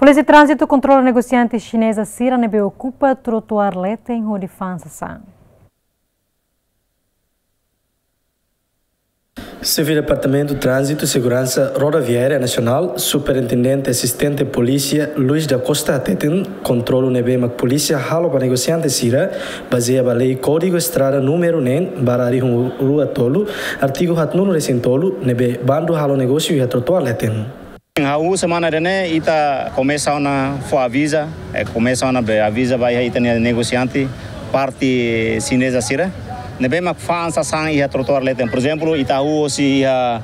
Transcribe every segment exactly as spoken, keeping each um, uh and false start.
Polísia Tránzitu kontrola negosiante xineza sira ne'ebé okupa trotuár leten hodi fa'an sasán. Xefe Departamentu Tránzitu Seguransa Rodoviária Nasionál, Superintendente Asistente Polísia Luis da Costa hateten, kontrolu ne'ebé mak polísia halo ba negosiante sira, bazeia ba lei Kódigu Estrada númeru neen barra rihun rua tolu, artigu haatnulu resin tolu, ne'ebé bandu halo negósiu iha trotuár leten. Hahú semana ida-ne'e ita komesa ona fó aviza, eh, komesa ona be aviza ba iha ita-nia negosiante, parte xineza sira ne'ebé mak fa'an sasán iha trotuár leten. Por ezemplu, ita hahú hosi iha,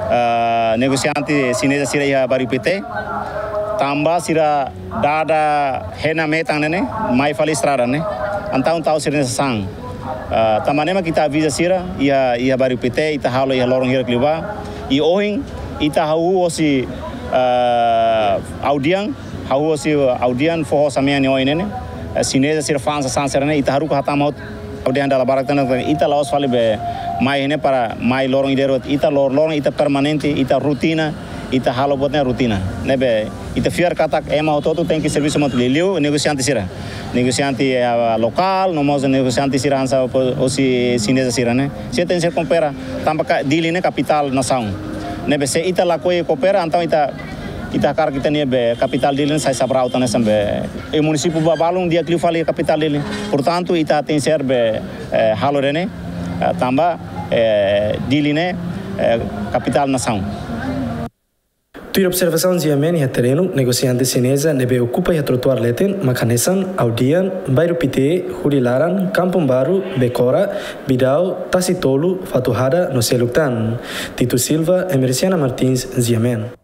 ah, negosiante xineza sira iha Bairru Pité, tanba sira dada hena metan ne'e, mai fali estrada ne'e. Entaun tau sira-nia sasán. Ah, tanba ne'e mak ita aviza sira iha, iha Bairru Pité, ita halo iha loron hirak liubá. I ohin ita hahú hosi, ah, Audian, hahú hosi Audian foho samea nia oin ne'e. Eh, xineza sira fa'an sasán sira-ne'e, ita haruka hatama hotu Audian dala barak tan, ita la'ós fali be mai ne'e para mai loron ida rua, ita lor-, loron ita permanente, ita rotina, ita halo buat ne'e rotina. Ne'ebé ita fiar katak ema hotu-hotu tenke servisu hamutuk, liuliu negosiante sira. Negosiante, eh, lokál, no mós negosiante sira hanesan hosi xineza sira-ne'e. Sira tenke koopera, tanba ka-, Dili ne'e kapitál nasaun. Ne'ebé se ita lakohi koopera, entaun ita, ita hakarak ita-nia be kapitál Dili ne'e sai sabraut hanesan be. I munisípiu ba-, balun di'ak liu fali kapitál Dili. Portantu, ita tenke be, eh, halo ida-ne'e, eh, tanba, eh, Dili ne'e, eh, kapitál nasaun. Tuir observasaun Ziamen iha terrenu, negosiante xineza ne'ebé okupa iha trotuár leten mak hanesan Audian, Bairru Pité, Hulilaran, Kampung Baru, Bekora, Bidau, Tasi Tolu, Fatuhada no seluk tan. Tito Silva, Emerciana Martins, Ziamen.